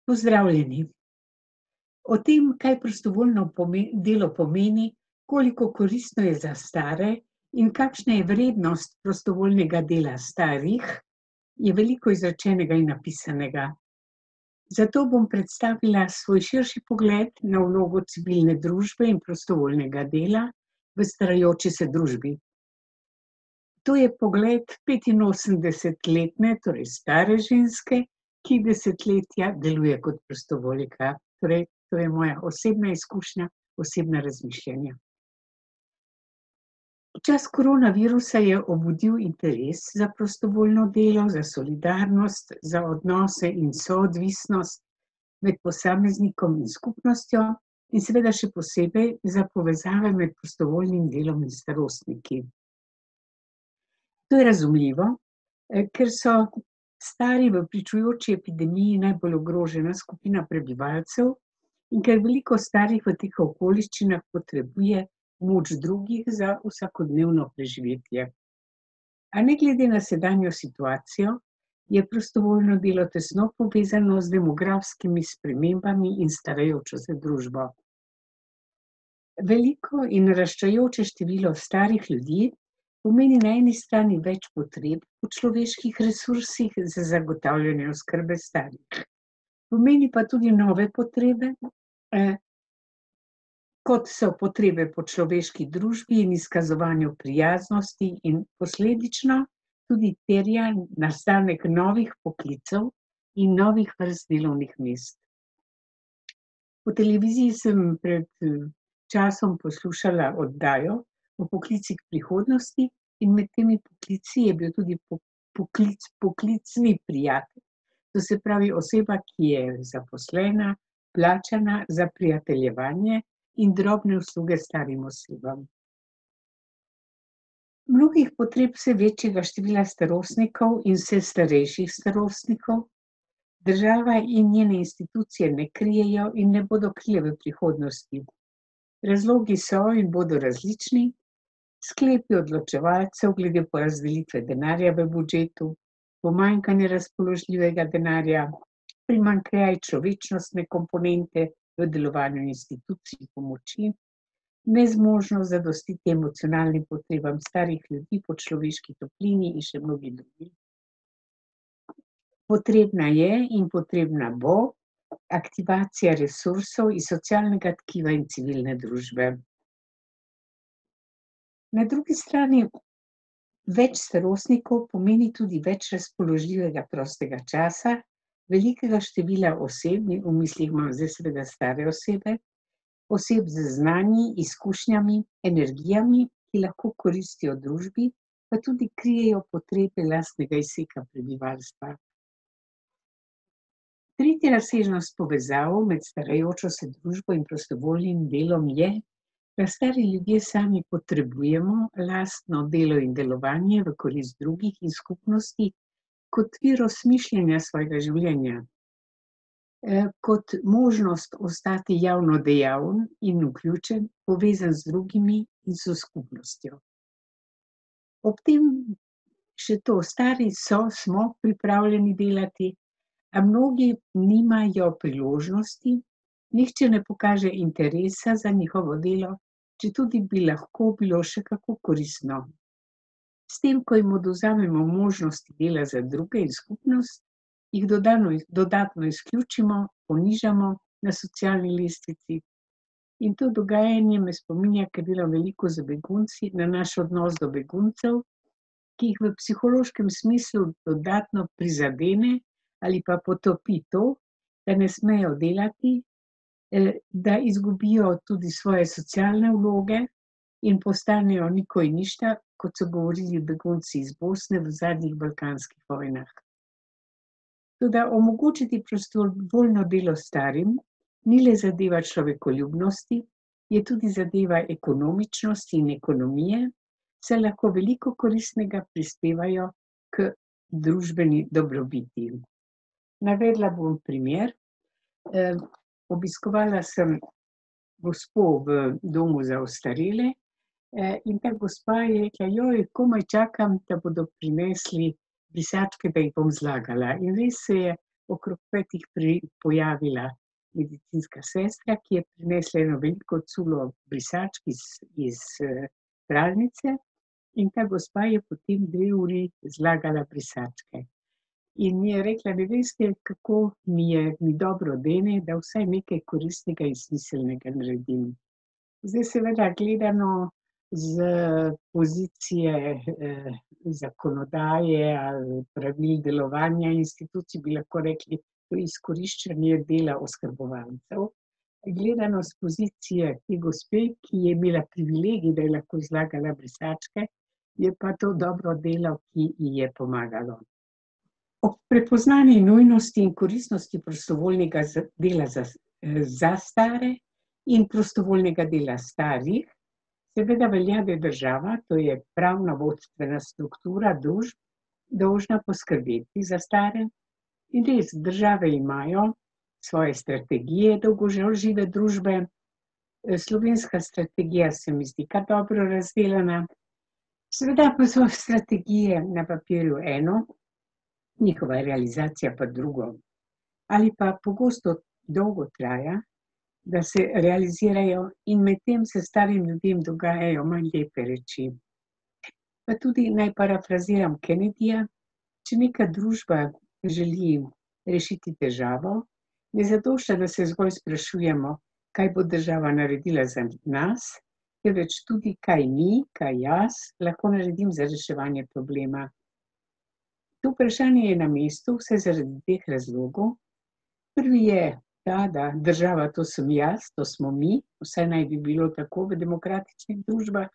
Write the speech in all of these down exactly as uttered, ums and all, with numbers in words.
Pozdravljeni. O tem, kaj prostovoljno pome- delo pomeni, koliko koristno je za stare in kakšna je vrednost prostovoljnega dela starih, je veliko izrečenega in napisanega. Zato bom predstavila svoj širši pogled na vlogo civilne družbe in prostovoljnega dela v starajoči se družbi. To je pogled petinosemdesetletne, torej stare ženske, ki desetletja deluje kot prostovoljka. Torej, to je moja osebna izkušnja, osebna razmišljanja. Čas koronavirusa je obudil interes za prostovoljno delo, za solidarnost, za odnose in soodvisnost med posameznikom in skupnostjo in seveda še posebej za povezave med prostovoljnim delom in starostniki. To je razumljivo, eh, ker so stari v pričujoči epidemiji najbolj ogrožena skupina prebivalcev in ker veliko starih v teh okoliščinah potrebuje moč drugih za vsakodnevno preživetje. A ne glede na sedanjo situacijo, je prostovoljno delo tesno povezano z demografskimi spremembami in starajočo se družbo. Veliko in naraščajoče število starih ljudi pomeni na eni strani več potreb po človeških resursih za zagotavljanje oskrbe starih. Pomeni pa tudi nove potrebe, eh, kot so potrebe po človeški družbi in izkazovanju prijaznosti in posledično tudi terja nastanek novih poklicev in novih vrst delovnih mest. Po televiziji sem pred eh, časom poslušala oddajo o poklicih prihodnosti in med temi poklici je bil tudi po- poklic, poklicni prijatelj. To se pravi oseba, ki je zaposlena, plačana za prijateljevanje in drobne usluge starim osebam. Mnogih potreb vse večjega števila starostnikov in vse starejših starostnikov država in njene institucije ne krijejo in ne bodo krije v prihodnosti. Razlogi so in bodo različni, sklepi odločevalcev glede porazdelitve denarja v budžetu, pomanjkanje razpoložljivega denarja, primanjkljaj človečnostne komponente v delovanju institucij pomoči, nezmožnost zadostiti emocionalnim potrebam starih ljudi po človeški toplini in še mnogi drugi. Potrebna je in potrebna bo aktivacija resursov iz socialnega tkiva in civilne družbe. Na drugi strani več starostnikov pomeni tudi več razpoložljivega prostega časa, velikega števila oseb, v mislih imam zdaj seveda stare osebe, oseb z znanji, izkušnjami, energijami, ki lahko koristijo družbi, pa tudi krijejo potrebe lastnega izseka prebivalstva. Tretja razsežnost povezav med starajočo se družbo in prostovoljnim delom je, da stari ljudje sami potrebujemo lastno delo in delovanje v korist drugih in skupnosti kot vir osmišljanja svojega življenja, eh, kot možnost ostati javno dejaven in vključen, povezan z drugimi in s skupnostjo. Ob tem še to, stari so, smo pripravljeni delati, a mnogi nimajo priložnosti, nihče ne pokaže interesa za njihovo delo, četudi bi lahko bilo še kako koristno. S tem, ko jim odvzamemo možnosti dela za druge in skupnost, jih dodano, dodatno izključimo, ponižamo na socialni lestvici. In to dogajanje me spominja, ker delam veliko z begunci, na naš odnos do beguncev, ki jih v psihološkem smislu dodatno prizadene ali pa potopi to, da ne smejo delati, eh, da izgubijo tudi svoje socialne vloge in postanejo niko in ništa, kot so govorili begunci iz Bosne v zadnjih balkanskih vojnah. Toda omogočiti prostovoljno delo starim ni le zadeva človekoljubnosti, je tudi zadeva ekonomičnosti in ekonomije, saj lahko veliko koristnega prispevajo k družbeni dobrobiti. Navedla bom primer. Eh, obiskovala sem gospo v domu za ostarele, eh, in ta gospa je rekla, joj, komaj čakam, da bodo prinesli brisačke, da jih bom zlagala. In res se je okrog petih pri, pojavila medicinska sestra, ki je prinesla eno veliko culo brisačk iz, iz pralnice, in ta gospa je potem dve uri zlagala brisačke. In mi je rekla, ne veste, kako mi je, mi dobro dene, da vsaj nekaj koristnega in smiselnega naredim. Zdaj seveda gledano z pozicije eh, zakonodaje ali pravil delovanja institucij, bi lahko rekli, to izkoriščanje dela oskrbovancev. Gledano z pozicije te gospe, ki je imela privilegij, da je lahko zlagala brisačke, je pa to dobro delo, ki ji je pomagalo. Ob prepoznani nujnosti in koristnosti prostovoljnega dela za, za stare in prostovoljnega dela starih, seveda velja, da je država, to je pravna vodstvena struktura družb, dolžna poskrbeti za stare. In res, države imajo svoje strategije dolgožive družbe. Slovenska strategija se mi zdi kar dobro razdelana. Seveda pa so strategije na papirju eno, njihova realizacija pa drugo. Ali pa pogosto dolgo traja, da se realizirajo, in medtem se starim ljudem dogajajo manj lepe reči. Pa tudi naj parafraziram Kennedyja, če neka družba želi rešiti težavo, ne zadošča, da se zgolj sprašujemo, kaj bo država naredila za nas, temveč tudi, kaj mi, kaj jaz lahko naredim za reševanje problema. To vprašanje je na mestu vse zaradi dveh razlogov. Prvi je ta, da država to sem jaz, to smo mi, vsaj naj bi bilo tako v demokratičnih družbah.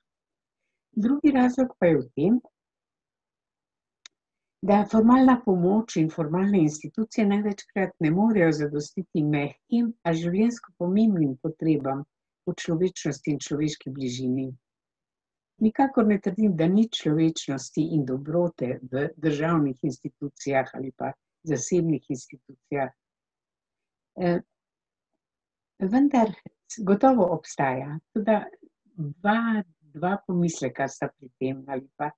Drugi razlog pa je v tem, da formalna pomoč in formalne institucije največkrat ne morejo zadostiti mehkim, a življenjsko pomembnim potrebam po človečnosti in človeški bližini. Nikakor ne trdim, da ni človečnosti in dobrote v državnih institucijah ali pa zasebnih institucijah. Eh, vendar gotovo obstaja tudi dva, dva pomisleka sta pri tem ali pa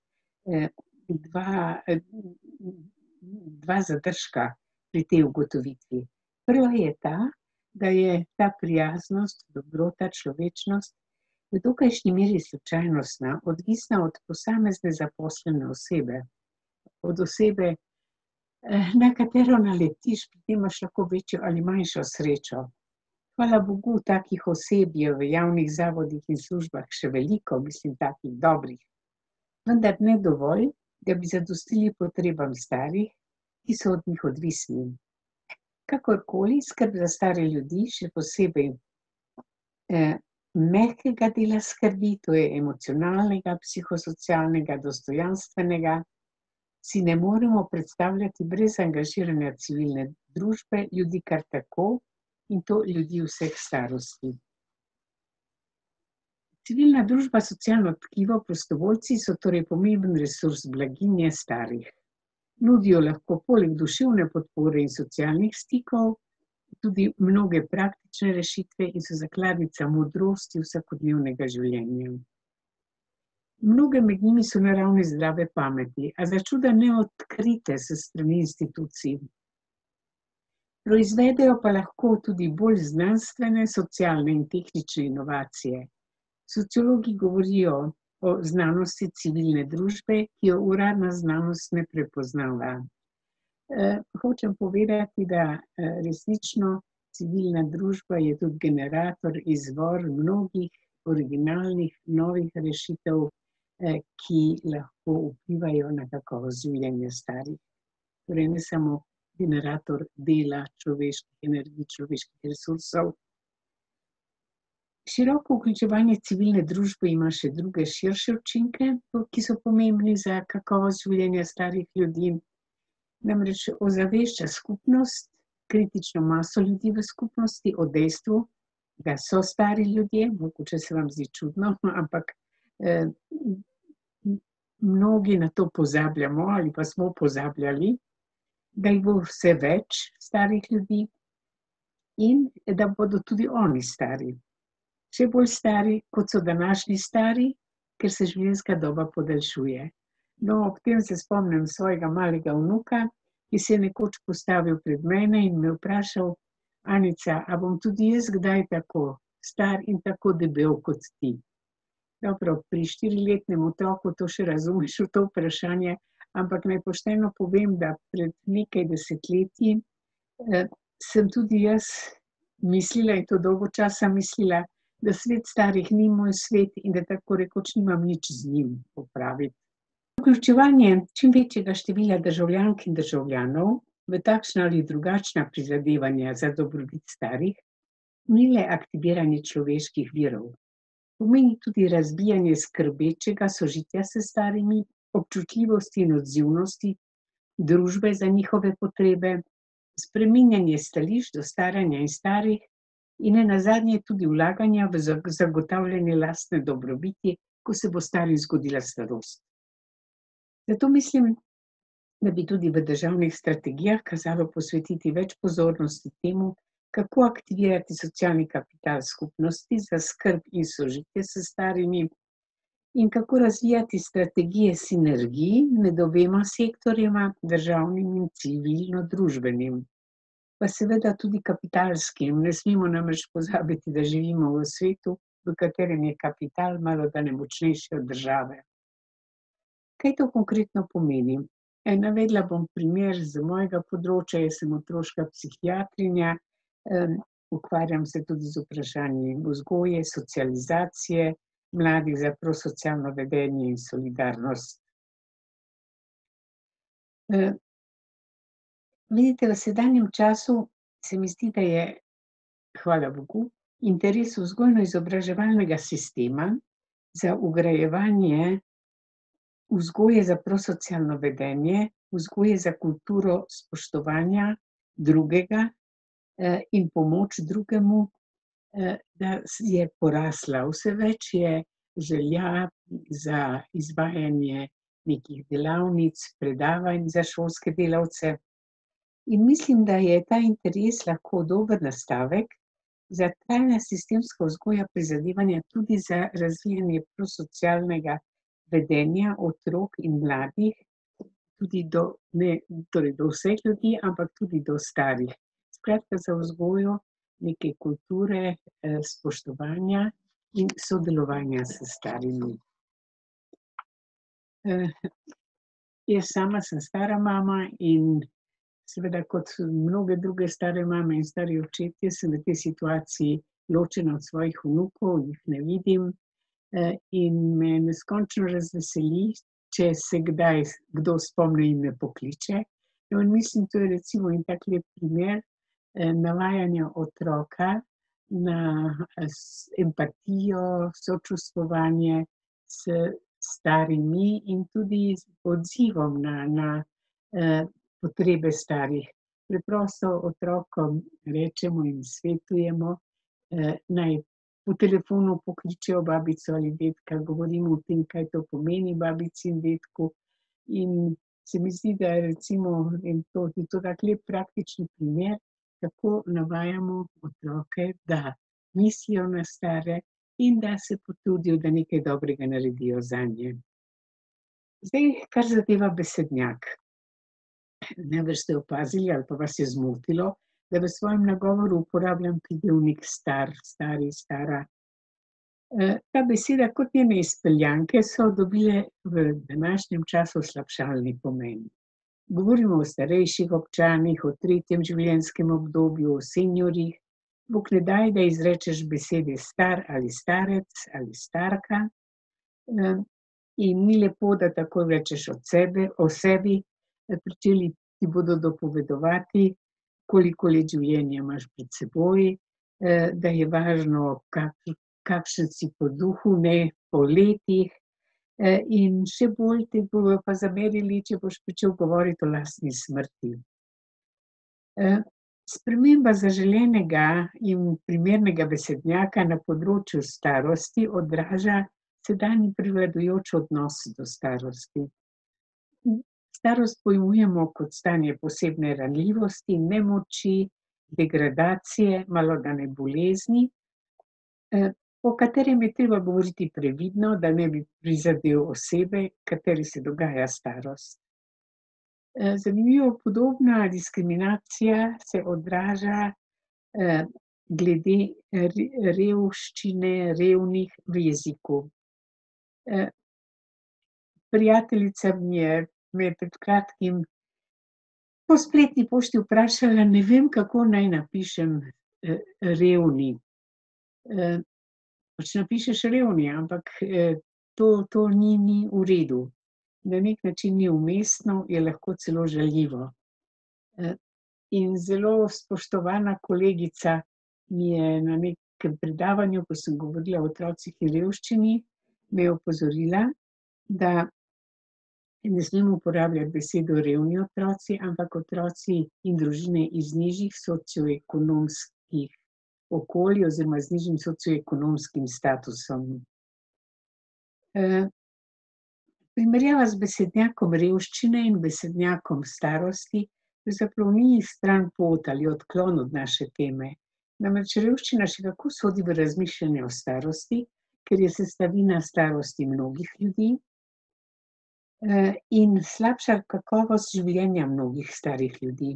eh, dva, eh, dva zadržka pri tej ugotovitvi. Prva je ta, da je ta prijaznost, dobrota, človečnost v dokajšnji meri slučajnostna, odvisna od posamezne zaposlene osebe, od osebe, na katero naletiš, pri tem imaš lahko večjo ali manjšo srečo. Hvala Bogu, takih oseb je v javnih zavodih in službah še veliko, mislim, takih dobrih, vendar ne dovolj, da bi zadostili potrebam starih, ki so od njih odvisni. Kakorkoli, skrb za stare ljudi, še posebej eh, mehkega dela skrbi, to je emocionalnega, psihosocialnega, dostojanstvenega, si ne moremo predstavljati brez angažiranja civilne družbe, ljudi kar tako, in to ljudi vseh starosti. Civilna družba, socialno tkivo, prostovoljci so torej pomemben resurs blaginje starih. Nudijo lahko poleg duševne podpore in socialnih stikov tudi mnoge praktične rešitve in so zakladnica modrosti vsakodnevnega življenja. Mnoge med njimi so naravne zdrave pameti, a začuda ne odkrite se strani institucij. Proizvedejo pa lahko tudi bolj znanstvene, socialne in tehnične inovacije. Sociologi govorijo o znanosti civilne družbe, ki jo uradna znanost ne prepoznava. Eh, hočem povedati, da eh, resnično civilna družba je tudi generator, izvor mnogih originalnih, novih rešitev, eh, ki lahko vplivajo na kakovost življenja starih. Torej ne samo generator dela, človeških energij, človeških resursov. Široko vključevanje civilne družbe ima še druge širše učinke, ki so pomembni za kakovost življenja starih ljudi. Namreč ozavešča skupnost, kritično maso ljudi v skupnosti o dejstvu, da so stari ljudje, mogoče se vam zdi čudno, ampak eh, mnogi na to pozabljamo ali pa smo pozabljali, da jih bo vse več starih ljudi in da bodo tudi oni stari. Še bolj stari, kot so današnji stari, ker se življenjska doba podaljšuje. No, ob tem se spomnim svojega malega vnuka, ki se je nekoč postavil pred mene in me vprašal: Anica, a bom tudi jaz kdaj tako star in tako debel kot ti? Dobro, pri štiriletnem otroku to še razumeš v to vprašanje, ampak naj pošteno povem, da pred nekaj desetletji eh, sem tudi jaz mislila in to dolgo časa mislila, da svet starih ni moj svet in da tako rekoč nimam nič z njim opraviti. Vključevanje čim večjega števila državljank in državljanov v takšna ali drugačna prizadevanja za dobrobit starih ni le aktiviranje človeških virov. Pomeni tudi razbijanje skrbečega sožitja s starimi, občutljivosti in odzivnosti družbe za njihove potrebe, spreminjanje stališč do staranja in starih in nenazadnje tudi vlaganja v zagotavljanje lastne dobrobiti, ko se bo starim zgodila starost. Zato mislim, da bi tudi v državnih strategijah kazalo posvetiti več pozornosti temu, kako aktivirati socialni kapital skupnosti za skrb in sožitje s starimi in kako razvijati strategije sinergij med obema sektorjema, državnim in civilno-družbenim. Pa seveda tudi kapitalskim. Ne smemo namreč pozabiti, da živimo v svetu, v katerem je kapital malodane močnejši od države. Kaj to konkretno pomeni? E, navedla bom primer z mojega področja, jaz sem otroška psihiatrinja, eh, ukvarjam se tudi z vprašanji vzgoje, socializacije mladih za prosocialno vedenje in solidarnost. Eh, vidite, v sedanjem času se mi zdi, da je, hvala Bogu, interes vzgojno-izobraževalnega sistema za vgrajevanje vzgoje za prosocialno vedenje, vzgoje za kulturo spoštovanja drugega eh, in pomoč drugemu, eh, da je porasla. Vse več je želja za izvajanje nekih delavnic, predavanj za šolske delavce. In mislim, da je ta interes lahko dober nastavek za trajna sistemska vzgoja prizadevanja tudi za razvijanje prosocialnega vedenja otrok in mladih, tudi do, ne, torej do vseh ljudi, ampak tudi do starih. Skratka, za vzgojo neke kulture, eh, spoštovanja in sodelovanja s starimi. Eh, jaz sama sem stara mama in seveda kot mnoge druge stare mame in stari očetje sem v tej situaciji ločena od svojih vnukov, jih ne vidim. In me neskončno razveseli, če se kdaj kdo spomni in me pokliče. In mislim, to je recimo en tak lep primer navajanja otroka na empatijo, sočustvovanje s starimi in tudi z odzivom na, na eh, potrebe starih. Preprosto otrokom rečemo in svetujemo, eh, naj po telefonu pokličejo babico ali dedka, govorimo o tem, kaj to pomeni babici in dedku. In se mi zdi, da je recimo in to, je to tak lep praktični primer, kako navajamo otroke, da mislijo na stare in da se potrudijo, da nekaj dobrega naredijo zanje. Zdaj, kar zadeva besednjak. Najbrž ste opazili ali pa vas je zmotilo, da v svojem nagovoru uporabljam pridevnik star, stari, stara. Ta beseda kot njene izpeljanke so dobile v današnjem času slabšalni pomen. Govorimo o starejših občanih, o tretjem življenjskem obdobju, o seniorjih. Bog ne daj, da izrečeš besede star ali starec ali starka. In ni lepo, da tako rečeš od sebe, o sebi, pričeli ti bodo dopovedovati, koliko let življenja imaš pred seboj, da je važno, kak, kakšen si po duhu, ne po letih. In še bolj te bodo pa zamerili, če boš pričel govoriti o lastni smrti. Sprememba zaželenega in primernega besednjaka na področju starosti odraža sedanji prevladujoč odnos do starosti. Starost pojmujemo kot stanje posebne ranljivosti, nemoči, degradacije, malodane bolezni, o katerem je treba govoriti previdno, da ne bi prizadel osebe, kateri se dogaja starost. Zanimivo, podobna diskriminacija se odraža, glede revščine, revnih v jeziku. Prijateljica mi je, me je pred kratkim po spletni pošti vprašala, ne vem, kako naj napišem, revni. Pač napišeš revni, ampak, to, to ni, ni v redu. Na neki način ni umestno, je lahko celo žaljivo. In zelo spoštovana kolegica mi je na nekem predavanju, ko sem govorila o otrocih in revščini, me je opozorila, da ne smem uporabljati besedo revni otroci, ampak otroci in družine iz nižjih socioekonomskih okolij oziroma z nižjim socioekonomskim statusom. Primerjava z besednjakom revščine in besednjakom starosti pravzaprav ni stranpot ali odklon od naše teme. Namreč revščina še kako sodi v razmišljanje o starosti, ker je sestavina starosti mnogih ljudi, in slabša kakovost življenja mnogih starih ljudi.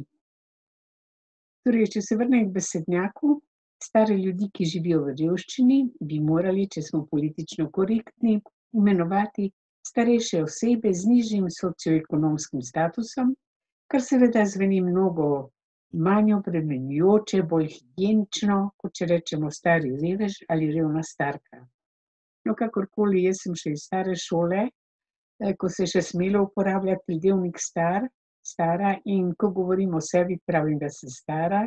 Torej, če se vrnem k besednjaku, stare ljudi, ki živijo v revščini, bi morali, če smo politično korektni, imenovati starejše osebe z nižjim socioekonomskim statusom, kar seveda zveni mnogo manj obremenjujoče, bolj higienično, kot če rečemo stari revež ali revna starka. No, kakorkoli, jaz sem še iz stare šole, ko se je še smelo uporabljati pridevnik star, stara, in ko govorim o sebi, pravim, da sem stara,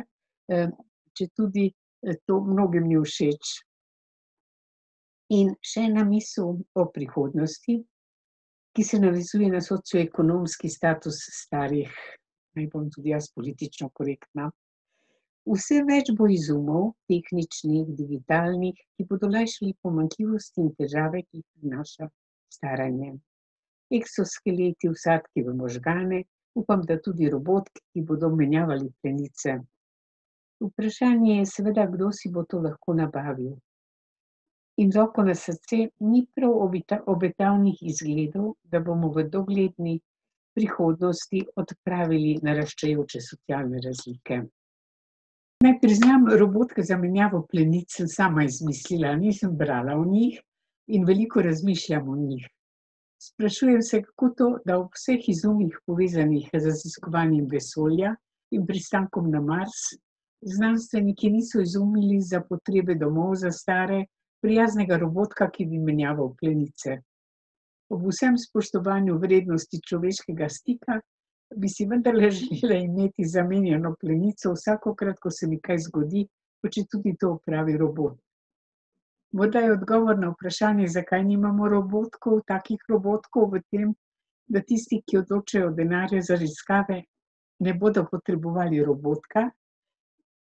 četudi to mnogim ni všeč. In še ena misel o prihodnosti, ki se navezuje na socioekonomski status starih. Naj bom tudi jaz politično korektna. Vse več bo izumov, tehničnih, digitalnih, ki bodo lajšali pomanjkljivosti in težave, ki jih prinaša staranje. Eksoskeleti, vsadki v možgane, upam, da tudi robotki, ki bodo menjavali plenice. Vprašanje je seveda, kdo si bo to lahko nabavil. In roko na srce, ni prav obetavnih izgledov, da bomo v dogledni prihodnosti odpravili naraščajoče socialne razlike. Naj priznam, robotke za menjavo plenic sem sama izmislila, nisem brala o njih in veliko razmišljam o njih. Sprašujem se, kako to, da ob vseh izumih povezanih z raziskovanjem vesolja in pristankom na Mars, znanstveniki niso izumili za potrebe domov za stare prijaznega robotka, ki bi menjaval plenice. Ob vsem spoštovanju vrednosti človeškega stika bi si vendarle želela imeti zamenjano plenico vsakokrat, ko se mi kaj zgodi, pa četudi to opravi robot. Morda je odgovor na vprašanje, zakaj nimamo robotkov, takih robotkov, v tem, da tisti, ki odločajo o denarju za raziskave, ne bodo potrebovali robotka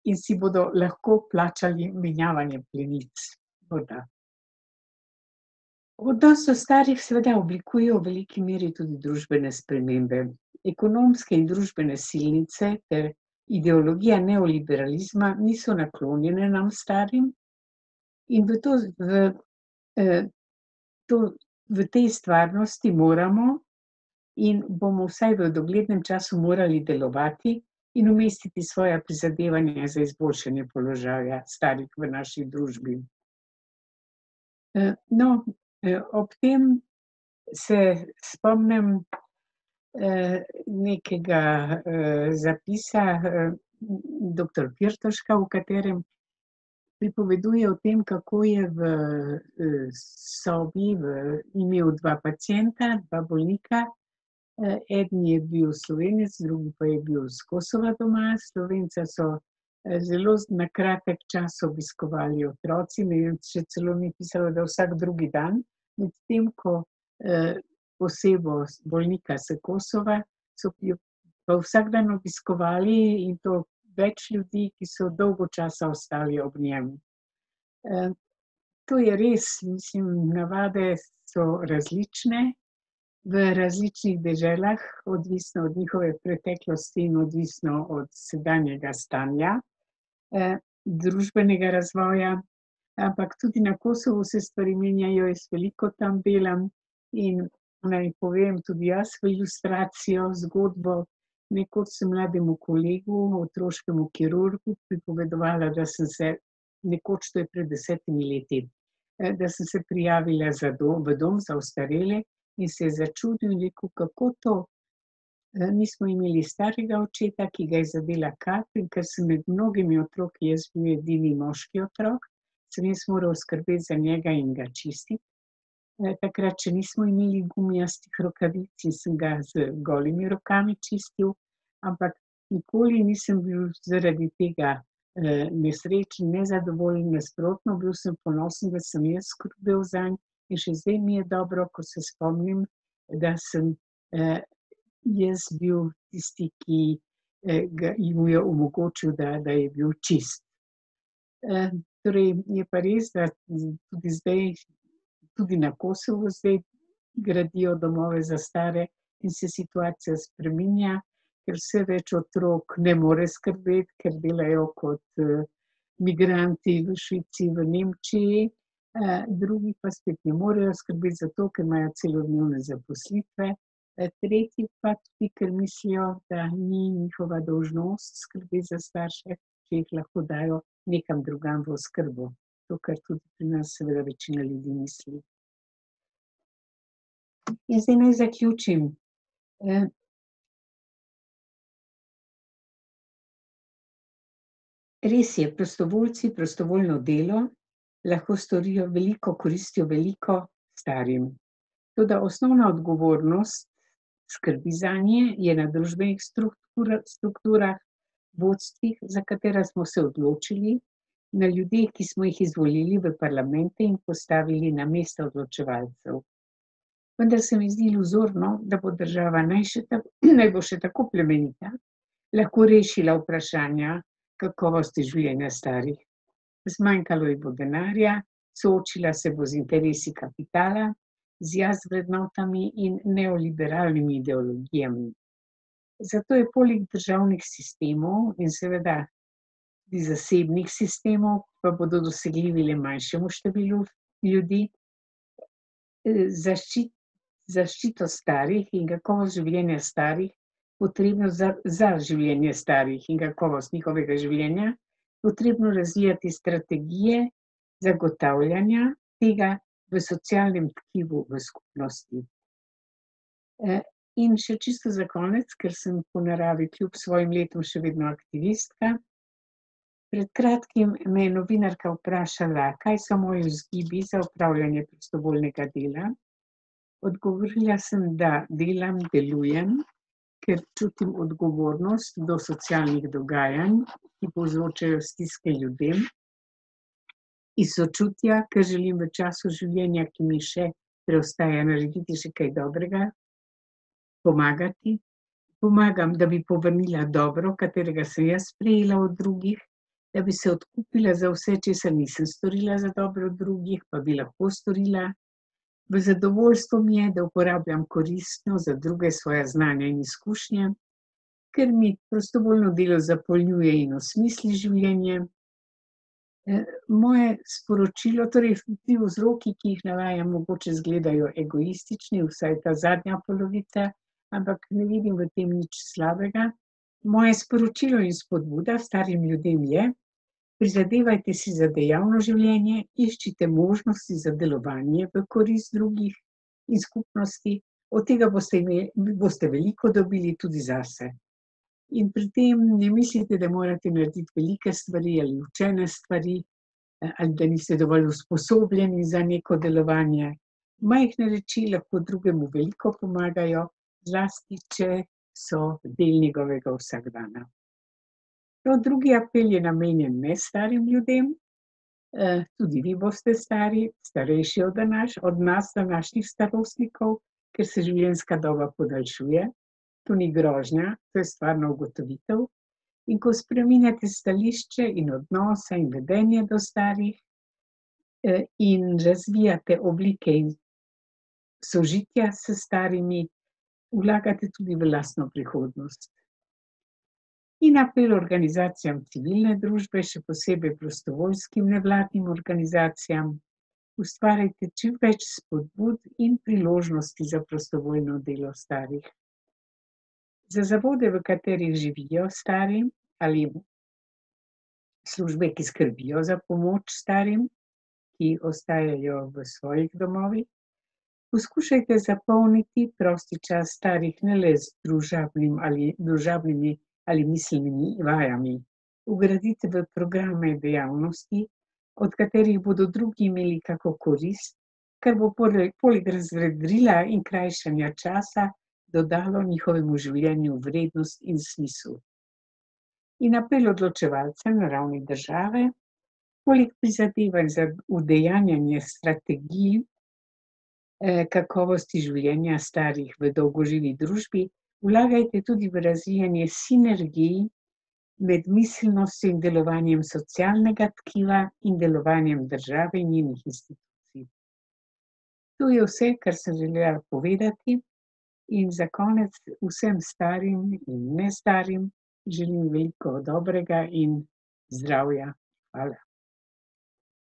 in si bodo lahko plačali menjavanje plenic. Morda. Odnos do starih seveda oblikujejo v veliki meri tudi družbene spremembe. Ekonomske in družbene silnice ter ideologija neoliberalizma niso naklonjene nam starim in v to, v, to, v tej stvarnosti moramo in bomo vsaj v doglednem času morali delovati in umestiti svoja prizadevanja za izboljšanje položaja starih v naši družbi. No, ob tem se spomnim nekega zapisa doktor Pirtoška, v katerem pripoveduje o tem, kako je v sobi imel dva pacienta, dva bolnika. Eden je bil Slovenec, drugi pa je bil s Kosova doma. Slovenca so zelo na kratek čas obiskovali otroci, ne vem, še celo ni pisalo, da vsak drugi dan, medtem ko osebo bolnika s Kosova so pa vsak dan obiskovali, in to več ljudi, ki so dolgo časa ostali ob njem. To je res, mislim, navade so različne v različnih deželah, odvisno od njihove preteklosti in odvisno od sedanjega stanja, družbenega razvoja, ampak tudi na Kosovu se stvari menjajo, jaz veliko tam delam in naj povem tudi jaz v ilustracijo, zgodbo Nekoč sem mlademu kolegu, otroškemu kirurgu, pripovedovala, da sem se, nekoč, to je pred desetimi leti, da sem se prijavila za dom, v dom za ostarele in se je začudil in rekel, kako to. Mi smo imeli starega očeta, ki ga je zadela kap, in ker sem med mnogimi otroki, jaz bil edini moški otrok, sem jaz moral skrbeti za njega in ga čistiti. Takrat še nismo imeli gumijastih rokavic in sem ga z golimi rokami čistil, ampak nikoli nisem bil zaradi tega nesrečen, nezadovoljen, nasprotno, bil sem ponosen, da sem jaz skrbel zanj, in še zdaj mi je dobro, ko se spomnim, da sem jaz bil tisti, ki ga mu je omogočil, da, da je bil čist. Torej, je pa res, da tudi zdaj, tudi na Kosovu zdaj gradijo domove za stare in se situacija spreminja, ker vse več otrok ne more skrbeti, ker delajo kot migranti v Švici, v Nemčiji, drugi pa spet ne morejo skrbeti zato, ker imajo celodnevne zaposlitve, tretji pa tudi, ker mislijo, da ni njihova dolžnost skrbeti za starše, ki jih lahko dajo nekam drugam v oskrbo. To, kar tudi pri nas seveda večina ljudi misli. In zdaj naj zaključim. Res je, prostovoljci, prostovoljno delo lahko storijo veliko, koristijo veliko starim. Toda osnovna odgovornost skrbi zanje je na družbenih strukturah, vodstvih, za katera smo se odločili, na ljudeh, ki smo jih izvolili v parlamente in postavili na mesta odločevalcev. Vendar se mi zdi iluzorno, da bo država naj še tako, naj bo še tako plemenita, lahko rešila vprašanja kakovosti življenja starih. Zmanjkalo ji bo denarja, soočila se bo z interesi kapitala, z jaz vrednotami in neoliberalnimi ideologijami. Zato je poleg državnih sistemov in seveda tudi zasebnih sistemov, pa bodo dosegljivi le manjšemu številu ljudi, zaščit, zaščito starih in kakovost življenja starih, potrebno za, za življenje starih in kakovost njihovega življenja, potrebno razvijati strategije zagotavljanja tega v socialnem tkivu v skupnosti. In še čisto za konec, ker sem po naravi kljub svojim letom še vedno aktivistka. Pred kratkim me je novinarka vprašala, kaj so moji vzgibi za opravljanje prostovoljnega dela. Odgovorila sem, da delam, delujem, ker čutim odgovornost do socialnih dogajanj, ki povzročajo stiske ljudem, iz sočutja, ker želim v času življenja, ki mi še preostaja, narediti še kaj dobrega, pomagati. Pomagam, da bi povrnila dobro, katerega sem jaz prejela od drugih, da bi se odkupila za vse, česar nisem storila za dobro drugih, pa bi lahko storila. V zadovoljstvo mi je, da uporabljam koristno za druge svoja znanja in izkušnje, ker mi prostovoljno delo zapolnjuje in osmisli življenje. Moje sporočilo, torej ti vzroki, ki jih navajam, mogoče izgledajo egoistični, vsaj ta zadnja polovica, ampak ne vidim v tem nič slabega. Moje sporočilo in spodbuda starim ljudem je: prizadevajte si za dejavno življenje, iščite možnosti za delovanje v korist drugih in skupnosti, od tega boste imeli, boste veliko dobili tudi zase. In pri tem ne mislite, da morate narediti velike stvari ali učene stvari, ali da niste dovolj usposobljeni za neko delovanje. Majhne reči lahko drugemu veliko pomagajo, zlasti če so del njegovega vsakdana. No, drugi apel je namenjen ne starim ljudem, tudi vi boste stari, starejši od današ, od nas, današnjih starostnikov, ker se življenjska doba podaljšuje. To ni grožnja, to je stvarna ugotovitev. In ko spreminjate stališče in odnose in vedenje do starih in razvijate oblike sožitja s starimi, vlagate tudi v lastno prihodnost. In apel organizacijam civilne družbe, še posebej prostovoljskim nevladnim organizacijam, ustvarjajte čim več spodbud in priložnosti za prostovoljno delo starih. Za zavode, v katerih živijo stari, ali službe, ki skrbijo za pomoč starim, ki ostajajo v svojih domovih, poskušajte zapolniti prosti čas starih ne le z družabnim ali družabnimi ali miselnimi vajami. Vgradite v programe dejavnosti, od katerih bodo drugi imeli kako korist, kar bo poleg, poleg razvedrila in krajšanja časa dodalo njihovemu življenju vrednost in smisel. In apel odločevalcem na ravni države, poleg prizadevanj za udejanjanje strategij eh, kakovosti življenja starih v dolgoživi družbi, vlagajte tudi v razvijanje sinergij med miselnostjo in delovanjem socialnega tkiva in delovanjem države in njenih institucij. To je vse, kar sem želela povedati, in za konec vsem starim in nestarim želim veliko dobrega in zdravja. Hvala.